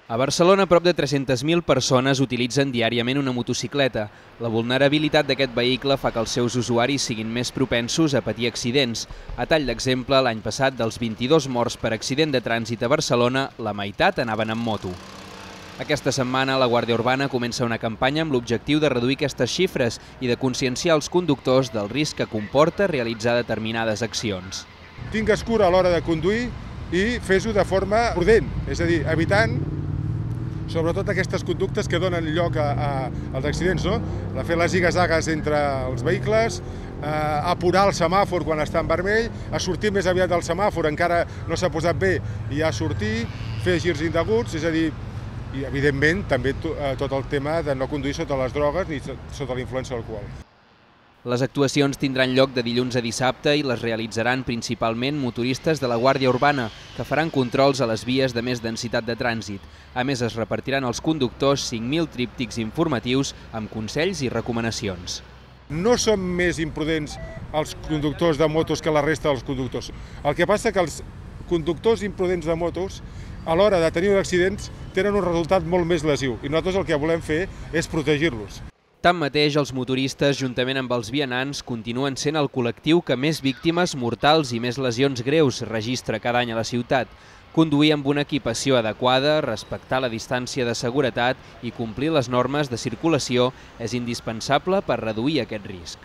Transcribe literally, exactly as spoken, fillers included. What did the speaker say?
A Barcelona, prop de tres-centes mil persones utilitzen diàriament una motocicleta. La vulnerabilitat d'aquest vehicle fa que els seus usuaris siguin més propensos a patir accidents. A tall d'exemple, l'any passat, dels vint-i-dos morts per accident de trànsit a Barcelona, la meitat anaven amb moto. Aquesta setmana, la Guàrdia Urbana comença una campanya amb l'objectiu de reduir aquestes xifres i de conscienciar els conductors del risc que comporta realitzar determinades accions. Tingues cura a l'hora de conduir i fes-ho de forma prudent, és a dir, evitant sobretot aquestes conductes que donen lloc a, a, als accidents, no? De fer les ziga-zagues entre els vehicles, a apurar el semàfor quan està en vermell, a sortir més aviat del semàfor, encara no s'ha posat bé, i a sortir, fer girs indeguts, és a dir, i evidentment també tot el tema de no conduir sota les drogues ni sota la influència de l'alcohol. Les actuacions tindran lloc de dilluns a dissabte i les realitzaran principalment motoristes de la Guàrdia Urbana, que faran controls a les vies de més densitat de trànsit. A més, es repartiran als conductors cinc mil tríptics informatius amb consells i recomanacions. No són més imprudents els conductors de motos que la resta dels conductors. El que passa que els conductors imprudents de motos, a l'hora de tenir accidents, tenen un resultat molt més lesiu i nosaltres el que volem fer és protegir-los. Tanmateix, els motoristes, juntament amb els vianants, continuen sent el col·lectiu que més víctimes mortals i més lesions greus registra cada any a la ciutat. Conduir amb una equipació adequada, respectar la distància de seguretat i complir les normes de circulació és indispensable per reduir aquest risc.